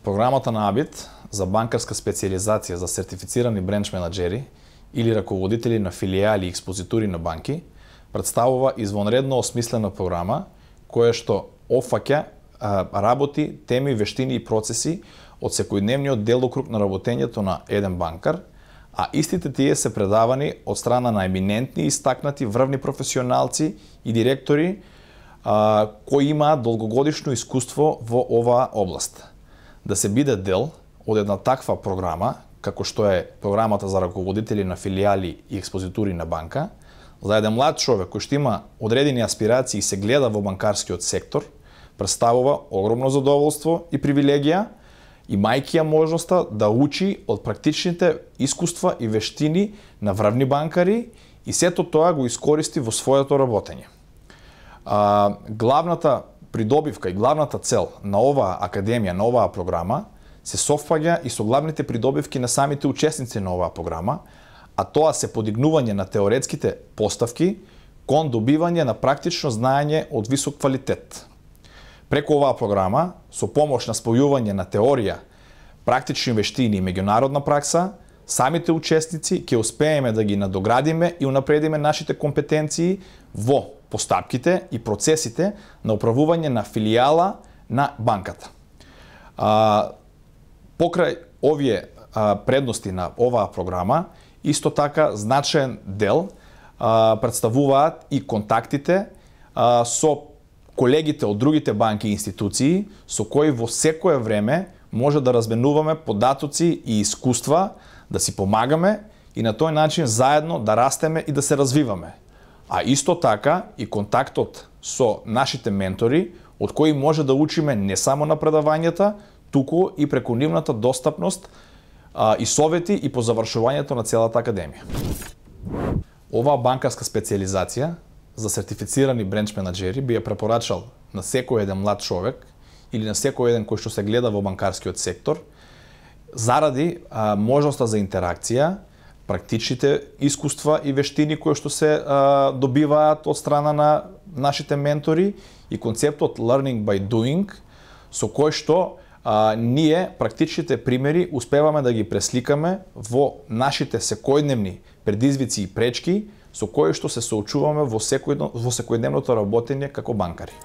Програмата на АБИТ за банкарска специализација за сертифицирани бренч менаџери или раководители на филијали и експозитури на банки представува извонредно осмислена програма која што опфаќа работи, теми, вештини и процеси од секојдневниот делокруг на работењето на еден банкар, а истите тие се предавани од страна на еминентни и истакнати врвни професионалци и директори кои имаат долгогодишно искуство во оваа област. Да се биде дел од една таква програма, како што е програмата за раководители на филијали и експозитури на банка, за еден млад човек кој што има одредени аспирации и се гледа во банкарскиот сектор, представува огромно задоволство и привилегија, имајќи ја можноста да учи од практичните искуства и вештини на врвни банкари и сето тоа го искористи во своето работење. Главната придобивка и главната цел на оваа академија, на оваа програма, се совпаѓа и со главните придобивки на самите учесници на оваа програма, а тоа се подигнување на теоретските поставки кон добивање на практично знаење од висок квалитет. Преку оваа програма, со помош на спојување на теорија, практични вештини и меѓународна пракса, самите учесници ќе успееме да ги надоградиме и унапредиме нашите компетенции во постапките и процесите на управување на филијала на банката. Покрај овие предности на оваа програма, исто така значаен дел представуваат и контактите со колегите од другите банки и институции со кои во секое време може да разменуваме податоци и искуства, да си помагаме и на тој начин заедно да растеме и да се развиваме. А исто така и контактот со нашите ментори, од кои може да учиме не само на предавањата, туку и преку нивната достапност и совети и по завршувањето на целата академија. Оваа банкарска специализација за сертифицирани бренч менаџери би ја препорачал на секој еден млад човек или на секој еден кој што се гледа во банкарскиот сектор, заради можноста за интеракција, практичните искуства и вештини кои што се добиваат од страна на нашите ментори и концептот learning by doing, со кој што ние практичните примери успеваме да ги пресликаме во нашите секојдневни предизвици и пречки со кои што се соочуваме во секојдневното работење како банкари.